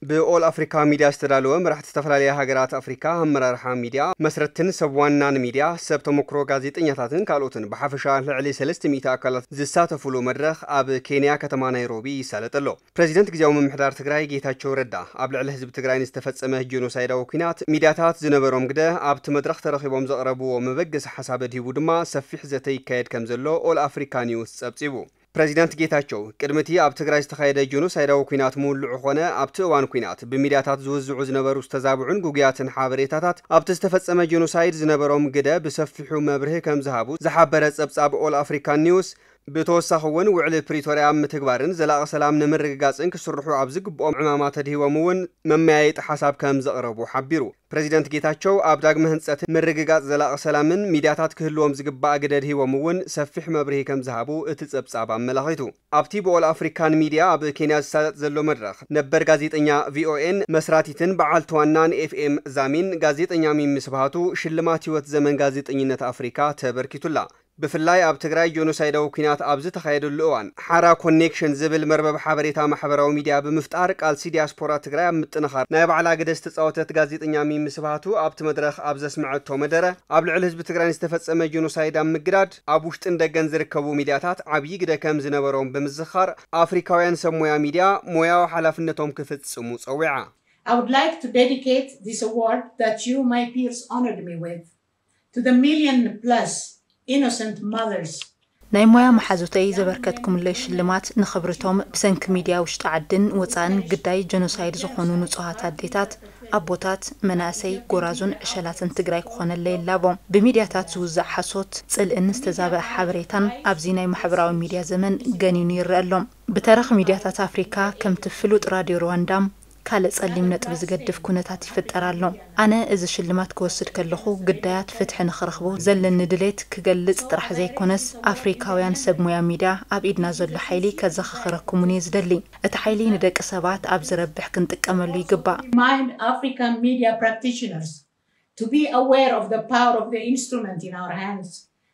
ብኦል ኣፍሪካ ሚድያ ዝተዳለወ፣ መራሕቲ ዝተፈላለያ ሃገራት ኣፍሪካ፣ ኣመራርሓ ሚድያ፣ መስረትን ሰብ ዋናን ሚድያ፣ ሰብ ተመክሮ ጋዜጠኛታትን ካልኦትን፣ ብሓፈሻ ልዕሊ ሰለስተ ሚእቲ ኣካላት ዝሳተፉሉ መድረኽ ኣብ ኬንያ ከተማ ናይሮቢ ይሳለጥ ኣሎ። ፕሬዚደንት ግዜያዊ ምምሕዳር ትግራይ ጌታቸው ረዳ፣ ኣብ ልዕሊ ህዝቢ ትግራይ ንዝተፈጸመ ጀኖሳይዳዊ ኲናት ሚድያታት ዝነበሮም ግደ ኣብቲ መድረኽ ተረኺቦም ዘቕረብዎ መበገሲ ሓሳብ ኣድሂቡ ድማ ሰፊሕ ዘተ ይካየድ ከም ዘሎ ኦል ኣፍሪካ ኒውስ ጸብጺቡ። ፕሬዚዳንት ጌታቸው፣ ቅድሚ እቲ ኣብ ትግራይ ዝተኻየደ ጀኖሳይዳዊ ኲናት ምውልዑ ኾነ ኣብቲ እዋን ኲናት ብሚድያታት ዝውዝዑ ዝነበሩ ዝተዛብዑን ግጉያትን ሓበሬታታት ኣብቲ ዝተፈጸመ ጀኖሳይድ ዝነበሮም ግደ ብሰፊሑ መብርሂ ከም ዝሃቡ ዝሓበረ ጸብጻብ ኦል ኣፍሪካን ኒውስ፣ ብተወሳኺ እውን ውዕሊ ፕሪቶርያ ኣብ ምትግባርን ዘላቒ ሰላም ንምርግጋጽን ክስርሑ ኣብ ዝግብኦም ዕማማት ኣድሂቦም እውን መመያየጢ ሓሳብ ከም ዘቕረቡ ሓቢሩ። ፕሬዚደንት ጌታቸው፣ ኣብ ዳግመ ህንጸት ምርግጋጽ ዘላቒ ሰላምን ሚድያታት ክህልዎም ዝግባእ ግደ ኣድሂቦም እውን ሰፊሕ መብርሂ ከም ዝሃቡ እቲ ጸብጻብ ኣመላኺቱ። ኣብቲ ብኦል ኣፍሪካን ሚድያ ኣብ ኬንያ ዝሳለጥ ዘሎ መድረኽ፣ ነበር ጋዜጠኛ ቪኦኤን መስራቲትን በዓልቲ ዋናን ኤፍኤም ዛሚን ጋዜጠኛ ሚሚ ስብሃቱ ሽልማት ህይወት ዘመን ጋዜጠኝነት ኣፍሪካ ተበርኪቱላ። ብፍላይ ኣብ ትግራይ ጆኖሳይዳዊ ኲናት ኣብ ዝተኻየደሉ እዋን፣ ሓራ ኮኔክሽን ዝብል መርበብ ሓበሬታ ማሕበራዊ ሚድያ ብምፍጣር ቃልሲ ዲያስፖራ ትግራይ ኣብ ምጥንኻር ናይ ባዕላ ግደ ዝተፃወተት ጋዜጠኛ ሚሚ ስብሃቱ ኣብቲ መድረኽ ኣብ ዘስመዐቶ መደረ፣ ኣብ ልዕሊ ህዝቢ ትግራይ ዝተፈጸመ ጆኖሳይድ ኣብ ምግዳድ ኣብ ውሽጥን ደገን ዝርከቡ ሚድያታት ዓብዪ ግደ ከም ዝነበሮም ብምዝኻር፣ ኣፍሪካውያን ሰብ ሞያ ሚድያ ሞያዊ ሓላፍነቶም ክፍጽሙ ጸዊዓ። I would like to dedicate this award that you, my peers, honored me with to the million plus innocent mothers. ናይ ሞያ መሓዙተይ ዘበርከትኩምለይ ሽልማት ንኽብርቶም ብሰንኪ ሚድያ ውሽጢ ዓድን ወፃእን ግዳይ ጀኖሳይድ ዝኾኑ ንፁሃት ኣዴታት፣ ኣቦታት፣ መናእሰይ፣ ጎራዙን ዕሸላትን ትግራይ ክኾነለይ ይላቦ። ብሚድያታት ዝውዛዕ ሓሶት፣ ፅልእን ዝተዛበዐ ሓበሬታን ኣብዚ ናይ ማሕበራዊ ሚድያ ዘመን ገኒኑ ይረአ ኣሎ። ብተረኽ ሚድያታት ኣፍሪካ ከምቲ ፍሉጥ ራድዮ ሩዋንዳ ካልእ ጸሊም ነጥቢ ዝገድፍ ኩነታት ይፍጠር ኣሎ። ኣነ እዚ ሽልማት ክወስድ ከለኹ ግዳያት ፍትሒ ንኽረኽቡ ዘለኒ ድሌት ክገልጽ ጥራሕ ዘይኮነስ ኣፍሪካውያን ሰብ ሞያ ሚድያ ኣብ ኢድና ዘሎ ሓይሊ ከዘኻኽረኩምን እየ ዝደሊ። እቲ ሓይሊ ንደቂ ሰባት ኣብ ዝረብሕ ክንጥቀመሉ ይግባእ። Remind African media practitioners to be aware of the power of the instrument in our hands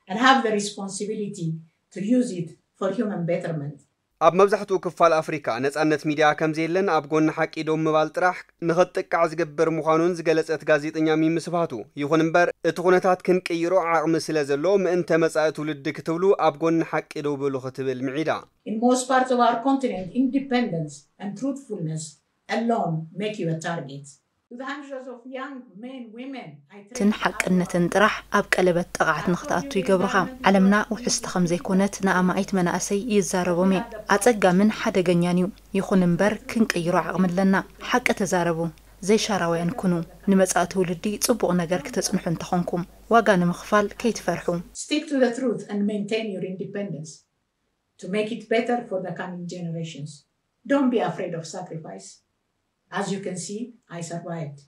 and have the responsibility to use it for human betterment. ኣብ መብዛሕትኡ ክፋል ኣፍሪካ ነጻነት ሚድያ ከም ዘየለን ኣብ ጎኒ ሓቂ ደው ምባል ጥራሕ ንኽትጥቃዕ ዝገብር ምዃኑን ዝገለጸት ጋዜጠኛ ሚሚ ስብሃቱ፣ ይኹን እምበር እቲ ኩነታት ክንቅይሮ ዓቕሚ ስለ ዘሎ ምእንተ መጻኢ ትውልዲ ክትብሉ ኣብ ጎኒ ሓቂ ደው በሉ ክትብል ምዒዳ። In most parts of our continent, independence and truthfulness alone make you a target. To the hundreds of young men, women I ትን trained ሓቅነትን ጥራሕ ኣብ ቀለበት ጠቕዓት ንኽትኣቱ ይገብሩኻ። ዓለምና ውሕስቲ ከም ዘይኮነት ንኣማኢት መናእሰይ ይዛረቦም እየ። ኣጸጋምን ሓደገኛን እዩ። ይኹን እምበር ክንቅይሮ ዓቕሚ ኣለና። ሓቂ ተዛረቡ። ዘይሻራውያን ኩኑ። ንመጻኢ ትውልዲ ጽቡቕ ነገር ክተጽንሑ እንተኾንኩም ዋጋ ንምኽፋል ከይትፈርሑ። Stick to the truth and maintain your independence to make it better for the coming generations. Don't be afraid of sacrifice. As you can see, I survived.